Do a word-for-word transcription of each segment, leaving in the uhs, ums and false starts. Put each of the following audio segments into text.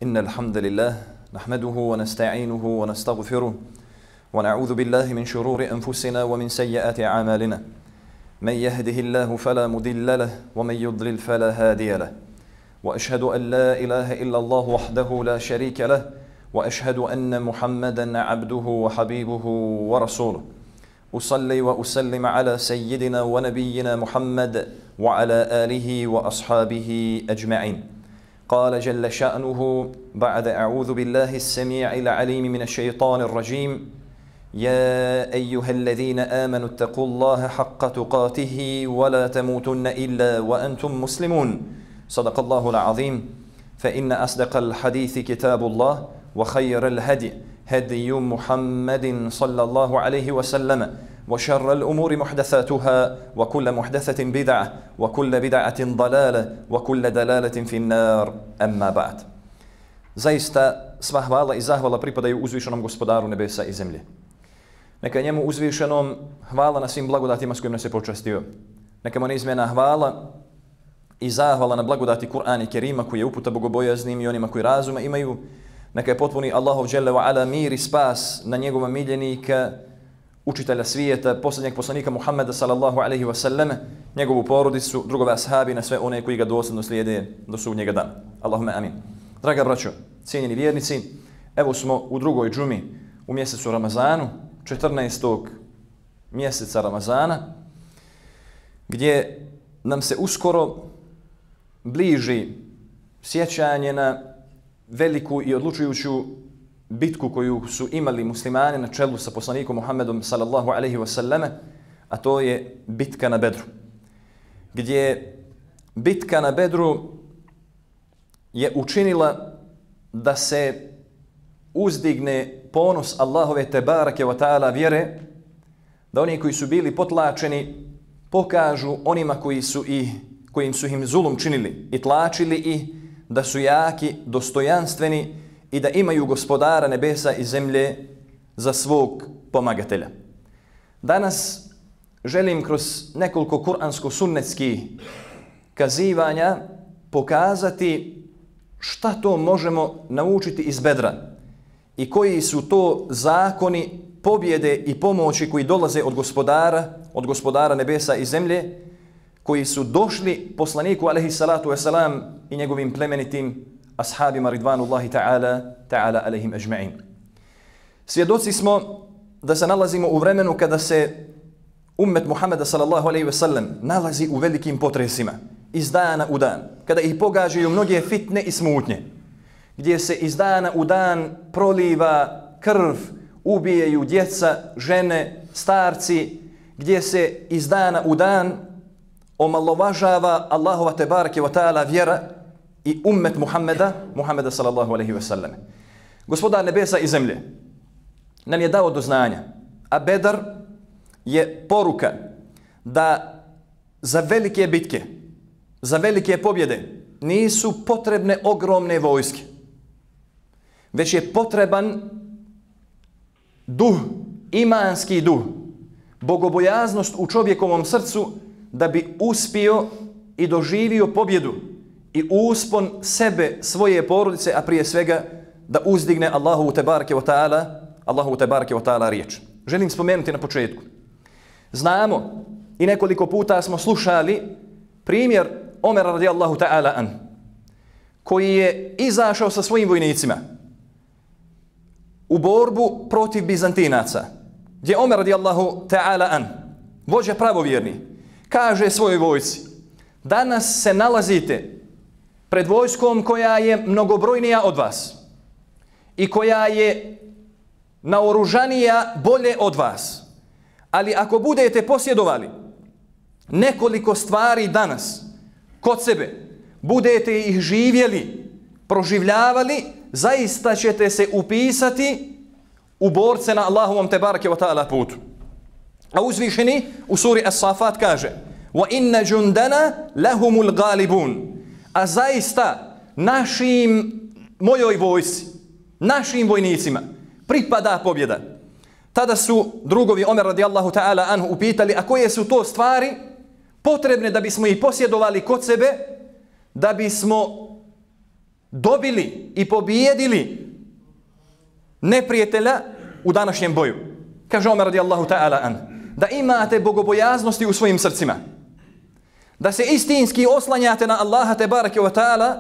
إن الحمد لله نحمده ونستعينه ونستغفره ونعوذ بالله من شرور أنفسنا ومن سيئات أعمالنا من يهده الله فلا مضل له ومن يضلل فلا هادي له وأشهد أن لا إله إلا الله وحده لا شريك له وأشهد أن محمدا عبده وحبيبه ورسوله أصلي وأسلم على سيدنا ونبينا محمد وعلى آله وأصحابه أجمعين. قال جل شأنه بعد أعوذ بالله السميع العليم من الشيطان الرجيم يا أيها الذين آمنوا اتقوا الله حق تقاته ولا تموتن إلا وأنتم مسلمون. صدق الله العظيم. فإن أصدق الحديث كتاب الله وخير الهدي هدي محمد صلى الله عليه وسلم وشر الأمور محدثاتها وكل محدثة بدعة وكل بدعة ضلالة وكل دلالة في النار أما بعد. Zaista sva hvala i zahvala pripadaju uzvišenom gospodaru nebesa i zemlje. Neka njemu uzvišenom hvala na svim blagodatima s kojim nas je počastio. Neka mu neizmjena hvala i zahvala na blagodati Kur'ana i Kerima koji je uputa bogobojaznim i onima koji razuma imaju. Neka je potpuni Allahov dželle ve ala mir i spas na njegova miljenika, učitelja svijeta, posljednjeg poslanika Muhammeda sallallahu alaihi wa sallam, njegovu porodicu, drugove ashabi, na sve one koji ga dosljedno slijede do sudnjega dana. Allahumma amin. Draga braćo, cijenjeni vjernici, evo smo u drugoj džumi u mjesecu Ramazanu, četrnaestog mjeseca Ramazana, gdje nam se uskoro bliži sjećanje na veliku i odlučujuću bitku koju su imali muslimani na čelu sa poslanikom Muhammedom sallallahu alaihi wasallam, a to je bitka na Bedru. Gdje bitka na Bedru je učinila da se uzdigne ponos Allahove tebarake wa ta'ala vjere, da oni koji su bili potlačeni pokažu onima koji su i kojim su im zulum činili i tlačili i da su jaki, dostojanstveni i da imaju gospodara nebesa i zemlje za svog pomagatelja. Danas želim kroz nekoliko kuransko-sunnetskih kazivanja pokazati šta to možemo naučiti iz Bedra i koji su to zakoni pobjede i pomoći koji dolaze od gospodara, od gospodara nebesa i zemlje, koji su došli poslaniku alejhi salatu vesselam i njegovim plemenitim ashabima ridvanullahi ta'ala ta'ala alejhim ajma'in. Svjedoci smo da se nalazimo u vremenu kada se ummet Muhammeda sallallahu alejhi ve sellem nalazi u velikim potresima iz dana u dan, kada ih pogađaju mnoge fitne i smutnje, gdje se iz dana u dan proliva krv, ubijaju djeca, žene, starci, gdje se iz dana u dan omalovažava Allahova tebareke wa ta'ala vjera i ummet Muhammeda, Muhammeda sallallahu alaihi wa sallam. Gospodar nebesa i zemlje nam je dao do znanja, a Bedar je poruka da za velike bitke, za velike pobjede nisu potrebne ogromne vojske, već je potreban duh, imanski duh, bogobojaznost u čovjekovom srcu da bi uspio i doživio pobjedu i uspon sebe, svoje porodice, a prije svega da uzdigne Allahu tebareke wa ta'ala, Allahu tebareke wa ta'ala riječ. Želim spomenuti na početku. Znamo i nekoliko puta smo slušali primjer Omera radijallahu ta'ala an, koji je izašao sa svojim vojnicima u borbu protiv Bizantinaca, gdje Omer radijallahu ta'ala an, vođa pravovjerni, kaže svojoj vojsci: danas se nalazite pred vojskom koja je mnogobrojnija od vas i koja je naoružanija bolje od vas. Ali ako budete posjedovali nekoliko stvari danas kod sebe, budete ih živjeli, proživljavali, zaista ćete se upisati u borce na Allahovom tebareke wa ta'ala putu. A uzvišeni u suri As-Safat kaže: wa inna jundana lahumul galibun. A zaista našim, mojoj vojsci, našim vojnicima pripada pobjeda. Tada su drugovi Omer radijallahu ta'ala anhu upitali: a koje su to stvari potrebne da bismo ih posjedovali kod sebe, da bismo dobili i pobijedili neprijatelja u današnjem boju. Kaže Omer radijallahu ta'ala an, da imate bogobojaznosti u svojim srcima, da se istinski oslanjate na Allaha tebareke wa ta'ala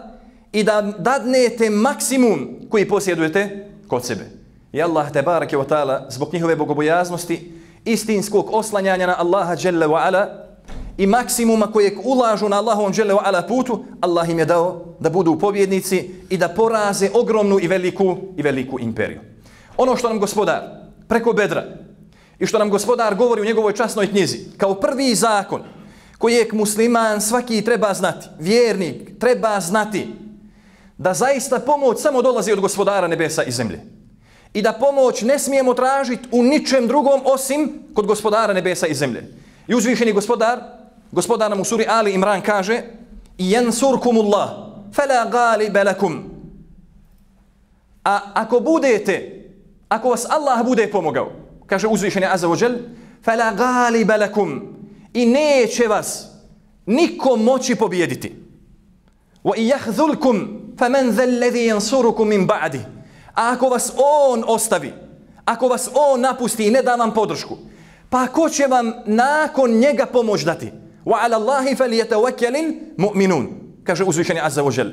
i da dadnete maksimum koji posjedujete kod sebe. I Allah tebareke wa ta'ala zbog njihove bogobojaznosti, istinskog oslanjanja na Allaha dželle wa ala i maksimuma kojeg ulažu na Allahovom dželle wa ala putu, Allah im je dao da budu pobjednici i da poraze ogromnu i veliku i veliku imperiju. Ono što nam Gospodar preko Bedra i što nam Gospodar govori u njegovoj časnoj knjizi kao prvi zakon kojeg musliman svaki treba znati, vjernik treba znati, da zaista pomoć samo dolazi od Gospodara nebesa i zemlje. I da pomoć ne smijemo tražiti u ničem drugom osim kod Gospodara nebesa i zemlje. I uzvišeni Gospodar, Gospodar nam u suri Ali Imran kaže: "Yansurkumullah fala ghaliba lakum." A ako budete, ako vas Allah bude pomogao, kaže uzvišeni Azza wa Jal, "Fala ghaliba lakum." I neće vas niko moći pobijediti. "Wa yakhzulkum faman zal ladhi yansurukum min ba'di." A ako vas on ostavi, ako vas on napusti i ne da vam podršku, pa ko će vam nakon njega pomoć dati? Wa ala Allahi falyatawakkalul mu'minun. Kaže uzvišeni Azza wa Jal.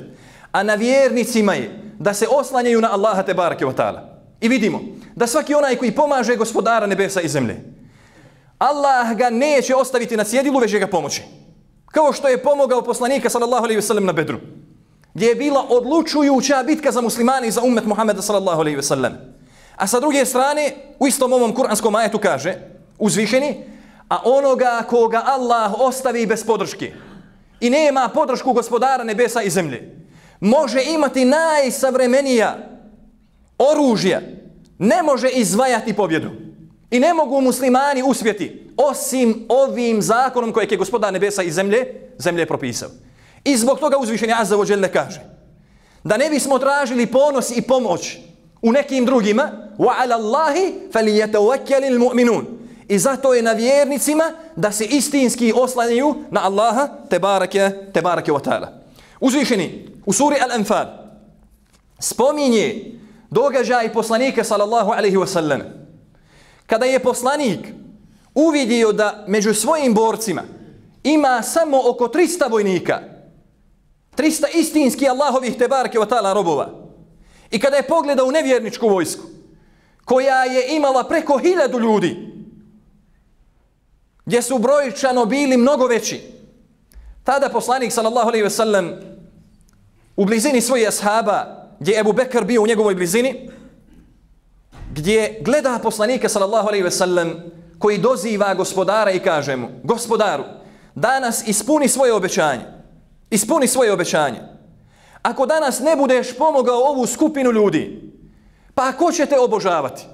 A na vjernicima je da se oslanjaju na Allaha tebareke wa ta'ala. I vidimo da svaki onaj koji pomaže Gospodara nebesa i zemlje, Allah ga neće ostaviti na cjedilu, već će ga pomoći. Kao što je pomogao poslanika sallallahu alejhi ve sellem na Bedru, gdje je bila odlučujuća bitka za muslimani i za ummet Muhameda sallallahu alejhi ve sellem. A sa druge strane, u istom ovom kuranskom ajetu kaže uzvišeni: "A onoga koga Allah ostavi bez podrške i nema podršku Gospodara nebesa i zemlje, može imati najsavremenija oružja, ne može izvajati pobjedu. I ne mogu muslimani uspjeti osim ovim zakonom kojeg je Gospodar nebesa i zemlje, zemlje propisao." I zbog toga uzvišeni Azza wa Jalla kaže da ne bismo tražili ponos i pomoć u nekim drugima, wa ala Allahi falyatawakkalul mu'minun. I zato je na vjernicima da se istinski oslanjaju na Allaha tebareke tebareke wa ta'ala. Uzvišeni u suri Al-Anfal spominje događaj poslanika sallallahu alejhi ve sellem, kada je poslanik uvidio da među svojim borcima ima samo oko trista vojnika, trista istinski Allahovih tebareke wa ta'ala robova. I kada je pogledao nevjerničku vojsku, koja je imala preko hiljadu ljudi, gdje su brojčano bili mnogo veći, tada poslanik sallallahu alejhi ve sellem u blizini svojih ashaba, gdje je Ebu Bekr bio u njegovoj blizini, gdje gleda poslanika sallallahu alejhi ve sellem koji doziva Gospodara i kaže mu: "Gospodaru, danas ispuni svoje obećanje. Ispuni svoje obećanje. Ako danas ne budeš pomogao ovu skupinu ljudi, pa ko će te obožavati?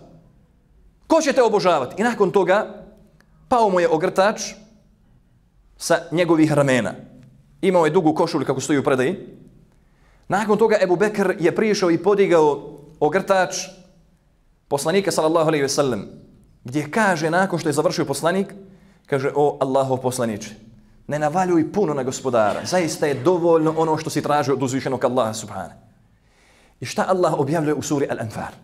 Ko će te obožavati?" I nakon toga pao mu je ogrtač sa njegovih ramena. Imao je dugu košulju kako stoji u predaji. Nakon toga Ebu Bekr je prišao i podigao ogrtač poslanika sallallahu alejhi ve sellem, gdje kaže nakon što je završio poslanik, kaže: "O Allahov poslaniče, ne navaljuj puno na Gospodara, zaista je dovoljno ono što si tražio od uzvišenog Allaha subhana." I šta Allah objavljuje u suri Al-Anfal?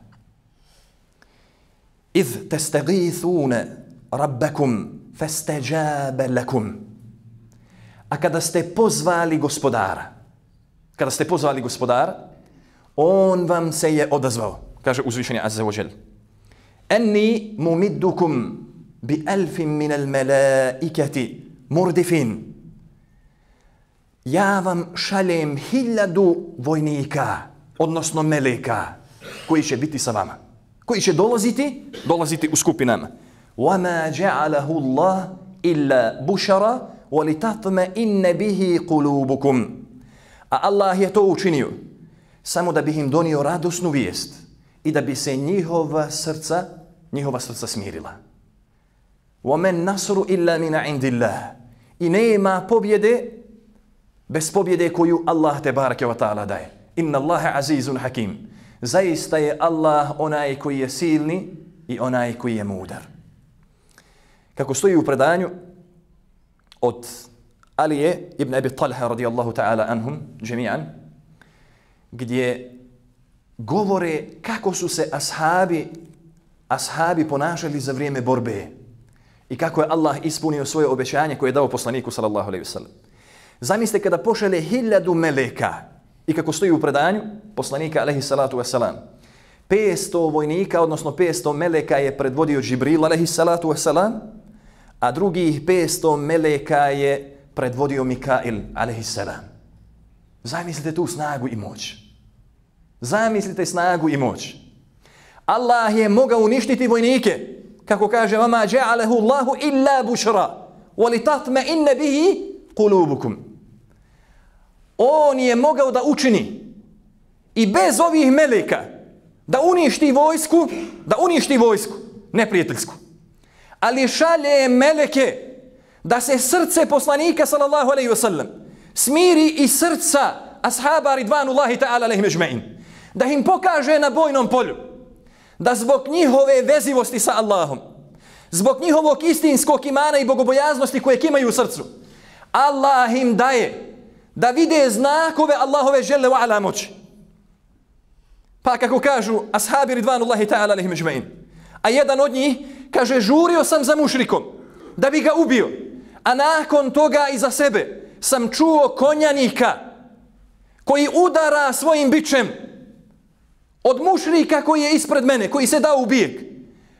"Iz tastagithuna rabbakum fastajaba lakum." A kada ste pozvali Gospodara, kada ste pozvali Gospodara, on vam se je odazvao. Kaže uzvišeni Azza wa Jal: "Anni mumiddukum bi alfin min al-malaikati murdifin." Ja vam šaljem hiljadu vojnika, odnosno meleka, koji će biti sa vama, koji će dolaziti, dolaziti u skupinama. وَمَا جَعَلَهُ اللَّهُ إِلَّا بُشَرًا وَلِتَطْمَئِنَّ بِهِ قُلُوبُكُمْ. A Allah je to učinio samo da bi im donio radosnu vijest i da bi se njihova srca, njihova srca smirila. وَمَنْ نَصْرُ إِلَّا مِنَ عِنْدِ اللَّهِ. I nema pobjede bez pobjede koju Allah tebareke wa ta'ala daje. Inna Allaha azizun hakim. Zaista je Allah onaj koji je silni i onaj koji je mudar. Kako stoji u predanju od Alije ibn Abi Talha radijallahu ta'ala anhum džemi'an, gdje govore kako su se ashabi, ashabi ponašali za vrijeme borbe i kako je Allah ispunio svoje obećanje koje je dao poslaniku sallallahu alejhi ve sellem. Zamislite kada pošalje hiljadu meleka i kako stoji u predanju poslanika alejhi salatu vesselam. petsto vojnika, odnosno petsto meleka je predvodio Džibril alejhi salatu vesselam, a drugih petsto meleka je predvodio Mikail alejhi salam. Zamislite tu snagu i moć. Zamislite snagu i moć. Allah je mogao uništiti vojnike, kako kaže vama ja'alehu Allahu illa bushra wa litatma'inna bihi qulubukum. On je mogao da učini i bez ovih meleka da uništi vojsku, da uništi vojsku neprijateljsku. Ali šalje meleke da se srce poslanika sallallahu alejhi ve sellem smiri i srca ashaba ridvanullahi ta'ala alejhim ejma'in, da im pokaže na bojnom polju da zbog njihove vezivosti sa Allahom, zbog njihovog istinskog imana i bogobojaznosti koje imaju u srcu, Allah im daje da vide znakove Allahove dželle ve ala moći. Pa kako kažu ashabi ridvanullahi ta'ala alejhim ejma'in, a jedan od njih kaže, žurio sam za mušrikom da bi ga ubio, a nakon toga iza sebe sam čuo konjanika koji udara svojim bičem od mušrika koji je ispred mene, koji se dao u bijeg,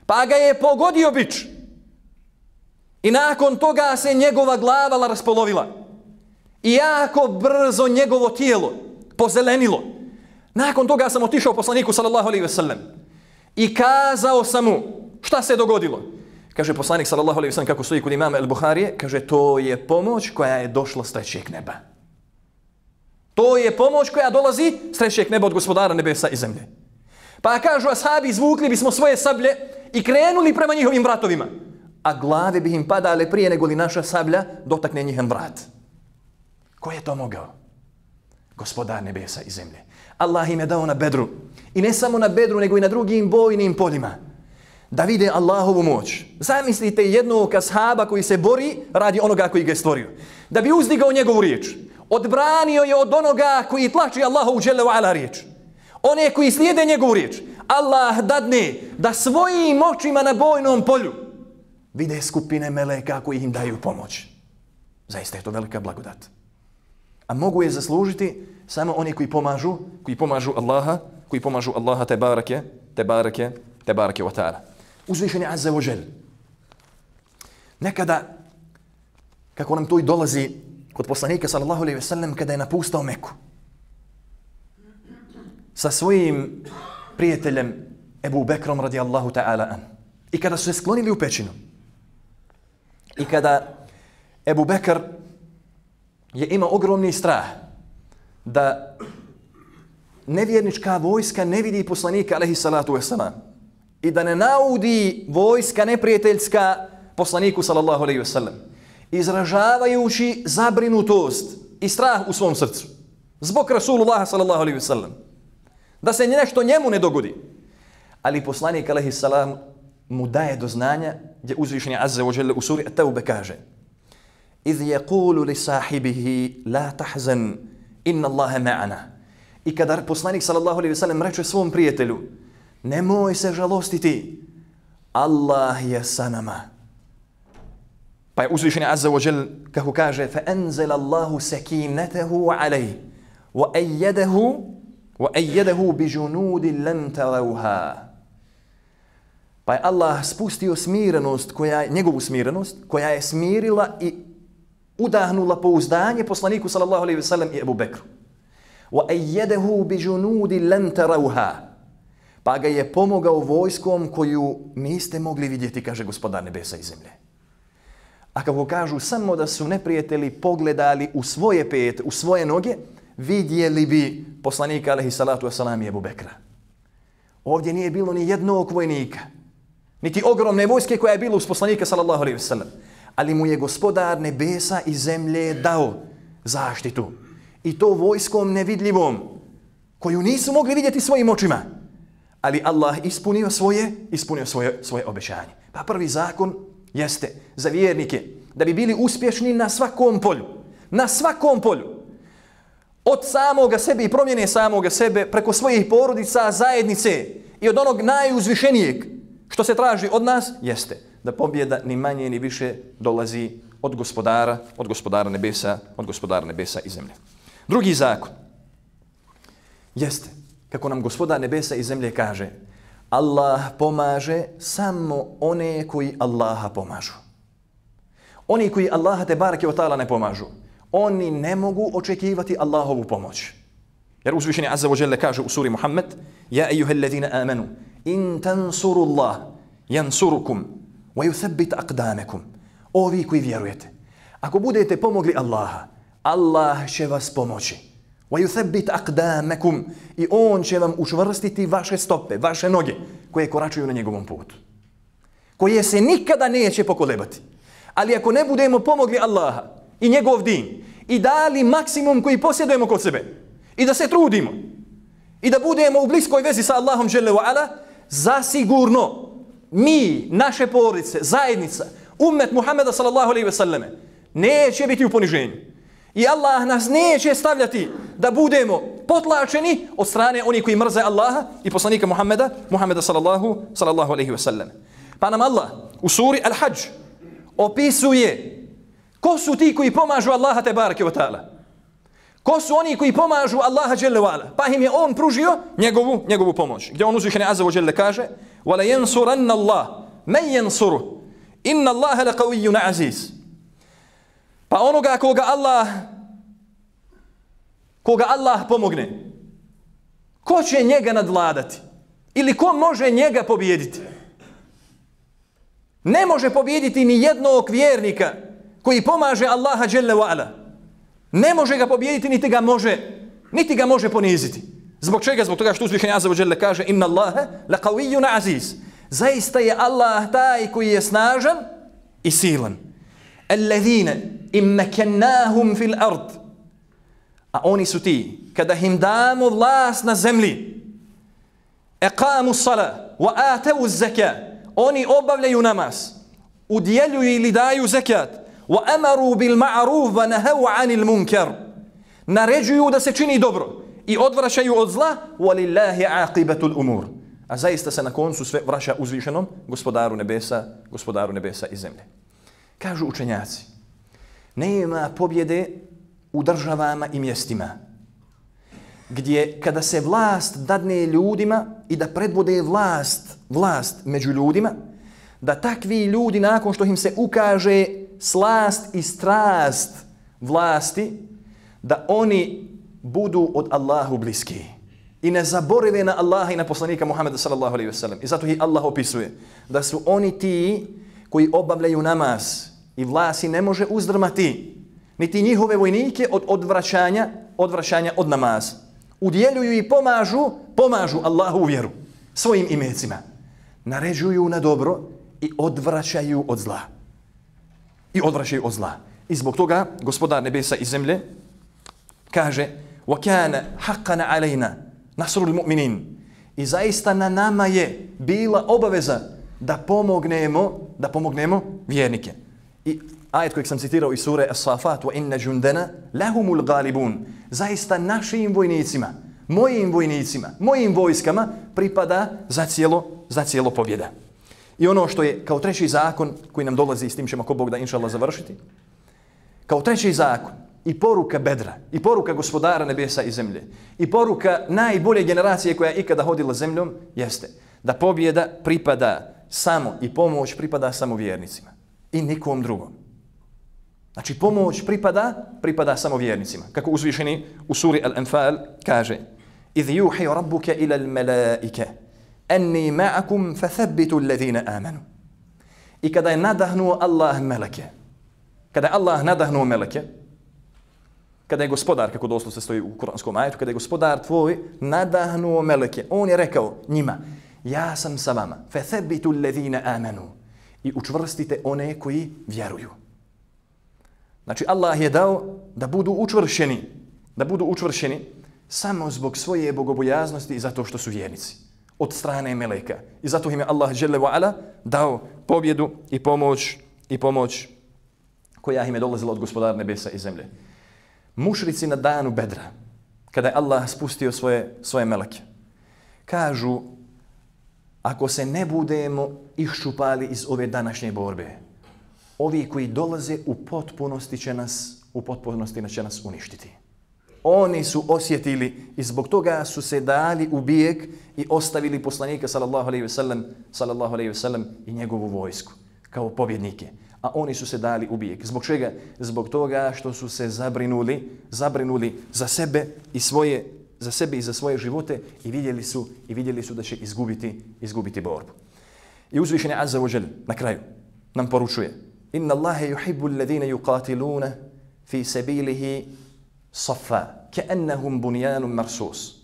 pa ga je pogodio bič i nakon toga se njegova glava raspolovila i jako brzo njegovo tijelo pozelenilo. Nakon toga sam otišao poslaniku sallallahu alejhi ve sellem i kazao sam mu šta se dogodilo. Kaže poslanik sallallahu alejhi ve sellem, kako stoji kod imama El-Buharije, kaže to je pomoć koja je došla s trećeg neba. To je pomoć koja dolazi s trećeg neba od gospodara nebesa i zemlje. Pa kažu ashabi, izvukli bismo svoje sablje i krenuli prema njihovim vratovima, a glave bi im padale prije nego li naša sablja dotakne njihov vrat. Ko je to mogao? Gospodar nebesa i zemlje. Allah im je dao na Bedru. I ne samo na Bedru, nego i na drugim bojnim poljima. Da vide Allahovu moć. Zamislite jednog ashaba koji se bori radi onoga koji ga je stvorio. Da bi uzdigao njegovu riječ. Odbranio je od onoga koji tlači Allahovu dželle ve ala riječ. One koji slijede njegovu riječ. Allah dadne da svojim očima na bojnom polju vide skupine meleka koji im daju pomoć. Zaista je to velika blagodat. A mogu je zaslužiti samo oni koji pomažu, koji pomažu Allaha, koji pomažu Allaha te barake, te barake, te barake wa ta'ala. Uzvišen je azza wa džel. Nekada, kako nam to i dolazi kod poslanika sallallahu alejhi ve sellem, kada je napustao Meku sa svojim prijateljem Ebu Bekrom radijallahu ta'ala an. I kada su se sklonili u pećinu i kada Ebu Bekr je imao ogromni strah da nevjernička vojska ne vidi poslanika alejhi salatu vesselam i da ne naudi vojska neprijateljska poslaniku sallallahu alejhi ve sellem, izražavajući zabrinutost i strah u svom srcu zbog Rasulullaha sallallahu alejhi ve sellem, da se nešto njemu ne dogodi. Ali poslanik alejhi salam mu daje do znanja, gdje uzvišeni azza wa dželle u suri At-Tawbe kaže: "Iz yaqulu li sahibihi la tahzan inna Allaha ma'ana." I kada poslanik sallallahu alejhi ve sellem reče svom prijatelju: "Nemoj se žalostiti, Allah je sa nama." Pa je uzvišeni azza wa dželle kako kaže: "Fa anzala Allahu sakinatahu alayhi wa ayyadahu wa ayyadahu bi junudin lam tarawha." Pa je Allah spustio smirenost, koja, njegovu smirenost, koja je smirila i udahnula pouzdanje poslaniku sallallahu alejhi ve sellem i Ebu Bekru. Wa ayyadahu bi junudin lam tarawha. Pa ga je pomogao vojskom koju niste mogli vidjeti, kaže gospodar nebesa i zemlje. A kako kažu, samo da su neprijatelji pogledali u svoje pete, u svoje noge, vidjeli bi poslanika alejhi salatu vesselam i Ebu Bekra. Ovdje nije bilo ni jednog vojnika, niti ogromne vojske koja je bila uz poslanika sallallahu alejhi ve sellem, ali mu je gospodar nebesa i zemlje dao zaštitu. I to vojskom nevidljivom, koju nisu mogli vidjeti svojim očima. Ali Allah ispunio svoje, ispunio svoje, svoje obećanje. Pa prvi zakon jeste za vjernike da bi bili uspješni na svakom polju. Na svakom polju. od samoga sebe i promjene samoga sebe preko svojih porodica, zajednice i od onog najuzvišenijeg što se traži od nas jeste da pobjeda ni manje ni više dolazi od gospodara, od gospodara nebesa, od gospodara nebesa i zemlje. Drugi zakon jeste kako nam gospodar nebesa i zemlje kaže: Allah pomaže samo one koji Allaha pomažu. Oni koji Allaha te bareke ve taala ne pomažu, oni ne mogu očekivati Allahovu pomoć. Jer uzvišeni azza wa jalla kaže u suri Muhammed: Ja ejuhellazina amanu in tansurullah yansurukum wa yuthabbit aqdamakum. O vi koji vjerujete, ako budete pomogli Allaha, Allah će vas pomoći. Wa yuthabbit aqdamakum, i on će vam učvrstiti vaše stope, vaše noge koje koračuju na njegovom putu, koje se nikada neće pokolebati. Ali ako ne budemo pomogli Allaha i njegov din i dali maksimum koji posjedujemo kod sebe i da se trudimo i da budemo u bliskoj vezi sa Allahom dželle ve ala, zasigurno mi, naše porodice, zajednica, ummet Muhameda sallallahu alejhi ve selleme neće biti u poniženju. I Allah nas neće stavljati da budemo potlačeni od strane onih koji mrze Allaha i poslanika Muhameda, Muhameda sallallahu, sallallahu alejhi ve selleme. Pa nam Allah u suri Al-Hadž opisuje ko su ti koji pomažu Allaha te bareke ve taala. Ko su oni koji pomažu Allaha dželle ve ala, pa im je on pružio njegovu, njegovu pomoć. Gdje on uzvišeni azza wa dželle kaže: وَلَا يَنْصُرَنَّ اللَّهُ مَنْ يَنْصُرُهُ إِنَّ اللَّهَ لَقَوِيٌّ عَزِيزٌ. Pa onoga koga Allah koga Allah pomogne, ko će njega nadvladati? Ili ko može njega pobijediti? Ne može pobijediti ni jednog vjernika koji pomaže Allaha dželle ve ala. Ne može ga pobijediti, niti ga može, niti ga može poniziti. Zbog čega? Zbog toga što uzvišeni azza wa dželle kaže: Inna Allaha laqawiyyun aziz. Zaista je Allah taj koji je snažan i silan. Alladhina immakannahum fil ard. A oni su ti kada im damo vlast na zemlji, aqamu s-salah wa atu z-zakat, oni obavljaju namaz, udjeljuju ili daju zekat, wa amaru bil ma'ruf wa nahaw 'anil munkar, naređuju da se čini dobro i odvraćaju od zla, walillahi aqibatul umur. A zaista se na koncu sve vraća uzvišenom gospodaru nebesa, gospodaru nebesa i zemlje. Kažu učenjaci, nema pobjede u državama i mjestima gdje kada se vlast dadne ljudima i da predvode vlast, vlast među ljudima, da takvi ljudi nakon što im se ukaže slast i strast vlasti, da oni budu od Allahu bliski i ne zaborave na Allaha i na poslanika Muhameda sallallahu alejhi ve sellem. I zato ih Allah opisuje da su oni ti koji obavljaju namaz i vlast ne može uzdrmati niti njihove vojnike od odvraćanja, odvraćanja od namaza. Udjeljuju i pomažu, pomažu Allahu u vjeru svojim imecima. Naređuju na dobro i odvraćaju od zla. I odvraćaju od zla. I zbog toga gospodar nebesa i zemlje kaže: وَكَانَ حَقَّنَ عَلَيْنَا نَصْرُ الْمُؤْمِنِينَ. I zaista na nama je bila obaveza da pomognemo, da pomognemo vjernike. I ajet kojeg sam citirao iz sure As-Safat: وَإِنَّ جُنْدَنَا لَهُمُ الْغَالِبُونَ. Zaista našim vojnicima, mojim vojnicima, mojim vojskama pripada za cijelo, za cijelo pobjeda. I ono što je kao treći zakon koji nam dolazi, s tim ćemo ko Bog da inšallah završiti, kao treći zakon i poruka Bedra, i poruka gospodara nebesa i zemlje, i poruka najbolje generacije koja je ikada hodila zemljom, jeste da pobjeda pripada samo i pomoć pripada samo vjernicima i nikom drugom. Znači pomoć pripada, pripada samo vjernicima. Kako uzvišeni u suri Al-Anfal kaže: إِذْ يُوحِي رَبُّكَ إِلَى الْمَلَائِكَ أَنِّي مَعَكُمْ فَثَبِّتُوا الَّذِينَ آمَنُوا. I kada je nadahnuo Allah meleke, kada je Allah nadahnuo meleke, kada je gospodar, kako doslovno se stoji u kuranskom ajetu, kada je gospodar tvoj nadahnuo meleke, on je rekao njima: ja sam sa vama, فَثَبِّتُوا الَّذِينَ آمَنُوا. I učvrstite one koji vjeruju. Znači Allah je dao da budu učvršeni, da budu učvršeni samo zbog svoje bogobojaznosti i zato što su vjernici od strane meleka. I zato im je Allah dželle ve ala dao pobjedu i pomoć i pomoć koja im je dolazila od gospodara nebesa i zemlje. Mušrici na danu Bedra kada je Allah spustio svoje, svoje meleke. Kažu, ako se ne budemo iščupali iz ove današnje borbe, ovi koji dolaze u potpunosti će nas, u potpunosti će nas uništiti. Oni su osjetili i zbog toga su se dali u bijeg i ostavili poslanika sallallahu alejhi ve sellem, sallallahu alejhi ve sellem i njegovu vojsku kao pobjednike. A oni su se dali u bijeg. Zbog čega? Zbog toga što su se zabrinuli, zabrinuli za sebe i svoje, za sebe i za svoje živote i vidjeli su i vidjeli su da će izgubiti, izgubiti borbu. I uzvišeni Azza wa Jal na kraju nam poručuje: Inna Allahe yuhibbu alladhina yuqatiluna fi sabilihi safa ka'annahum bunyanun marsus.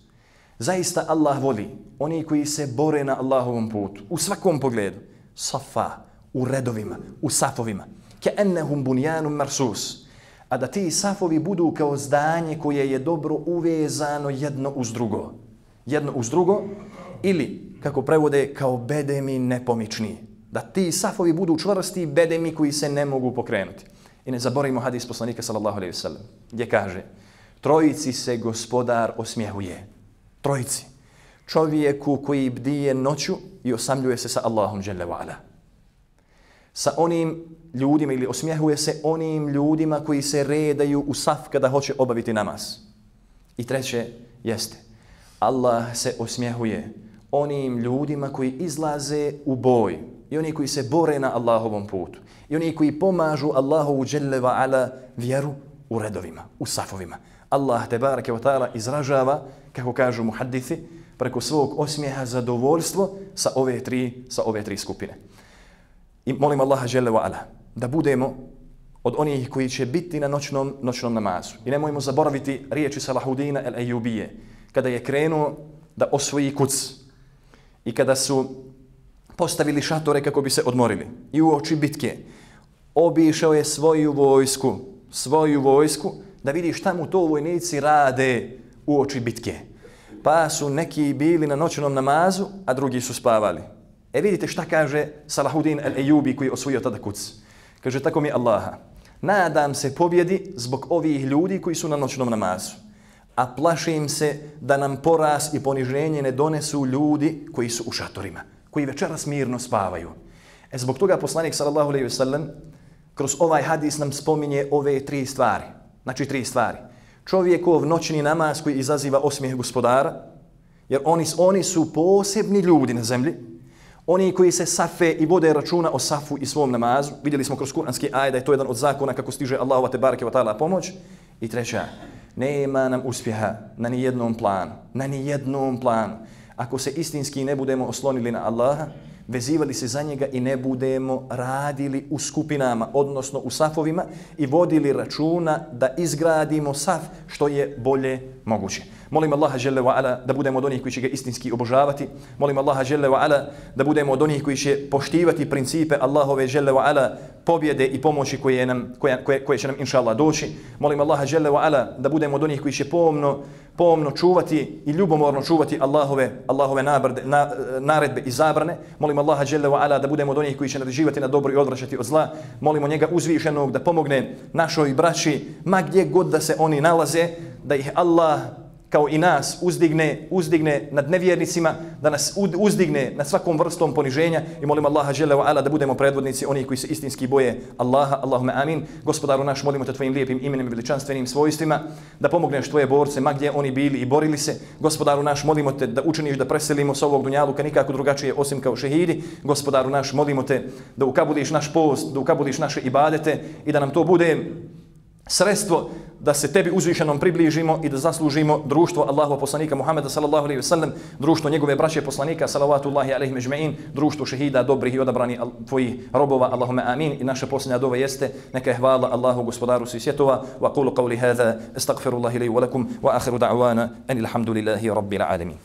Zaista Allah voli oni koji se bore na Allahovom putu u svakom pogledu. Safa, u redovima, u safovima. Ka'annahum bunyanun marsus. A da ti safovi budu kao zdanje koje je dobro uvezano jedno uz drugo. Jedno uz drugo ili, kako prevode, kao bedemi nepomični. Da ti safovi budu čvrsti bedemi koji se ne mogu pokrenuti. I ne zaboravimo hadis poslanika sallallahu alejhi ve sellem, gdje kaže: trojici se gospodar osmjehuje. Trojici. Čovjeku koji bdije noću i osamljuje se sa Allahom dželle ve ala. Sa onim ljudima, ili osmjehuje se onim ljudima koji se redaju u saf kada hoće obaviti namaz. I treće jeste, Allah se osmjehuje onim ljudima koji izlaze u boj i oni koji se bore na Allahovom putu i oni koji pomažu Allahovu dželle ve ala vjeru u redovima, u safovima. Allah tebareke ve taala izražava, kako kažu muhaddithi, preko svog osmijeha zadovoljstvo sa ove tri, sa ove tri skupine. I molim Allaha dželle ve ala da budemo od onih koji će biti na noćnom, noćnom namazu. I nemojmo zaboraviti riječi Salahudina el-Ejubije, kada je krenuo da osvoji Kuc i kada su postavili šatore kako bi se odmorili. I u oči bitke obišao je svoju vojsku, svoju vojsku, da vidi šta mu to vojnici rade u oči bitke. Pa su neki bili na noćnom namazu, a drugi su spavali. E vidite šta kaže Salahudin el-Ejubi koji je osvojio tada Kuc. Kaže: tako mi Allaha, nadam se pobjedi zbog ovih ljudi koji su na noćnom namazu, a plašim se da nam poraz i poniženje ne donesu ljudi koji su u šatorima, koji večeras mirno spavaju. E zbog toga poslanik sallallahu alejhi ve sellem kroz ovaj hadis nam spominje ove tri stvari. Znači tri stvari. Čovjekov noćni namaz koji izaziva osmijeh gospodara, jer oni, oni su posebni ljudi na zemlji. Oni koji se safe i vode računa o safu i svom namazu. Vidjeli smo kroz kuranski ajet da je to jedan od zakona kako stiže Allahova tebareke ve taala pomoć. I treća, nema nam uspjeha na ni jednom planu, na ni jednom planu, ako se istinski ne budemo oslonili na Allaha, vezivali se za njega i ne budemo radili u skupinama, odnosno u safovima i vodili računa da izgradimo saf što je bolje moguće. Molim Allaha dželle ve ala da budemo od onih koji će ga istinski obožavati. Molim Allaha dželle ve ala da budemo od onih koji će poštivati principe Allahove dželle ve ala pobjede i pomoći koje nam koje, koje, koje će nam inshallah doći. Molim Allaha dželle ve ala da budemo od onih koji će pomno pomno čuvati i ljubomorno čuvati Allahove Allahove nabrde, na, naredbe i zabrane. Molim Allaha dželle ve ala da budemo od onih koji će naređivati na dobro i odvraćati od zla. Molimo njega uzvišenog da pomogne našoj braći ma gdje god da se oni nalaze, da ih Allah kao i nas uzdigne, uzdigne nad nevjernicima, da nas uzdigne nad svakom vrstom poniženja i molim Allaha dželle ve ala da budemo predvodnici onih koji se istinski boje Allaha. Allahumma amin. Gospodaru naš, molimo te tvojim lijepim imenom i veličanstvenim svojstvima da pomogneš tvoje borce ma gdje oni bili i borili se. Gospodaru naš, molimo te da učiniš da preselimo s ovog dunjaluka nikako drugačije osim kao šehidi. Gospodaru naš, molimo te da ukabuliš naš post, da ukabuliš naše ibadete i da nam to bude sredstvo da se tebi uzvišenom približimo i da zaslužimo društvo Allahova poslanika Muhameda sallallahu alejhi ve sellem, društvo njegove braće poslanika salavatullahi alejhi ejma'in, društvo šehida dobrih i odabranih tvojih robova. Allahumma amin. I naša posljednja dova jeste: neka je hvala Allahu gospodaru svih svjetova. Wa qulu qawli hadha astaghfirullahi li wa lakum wa akhiru da'wana anil hamdulillahi rabbil alamin.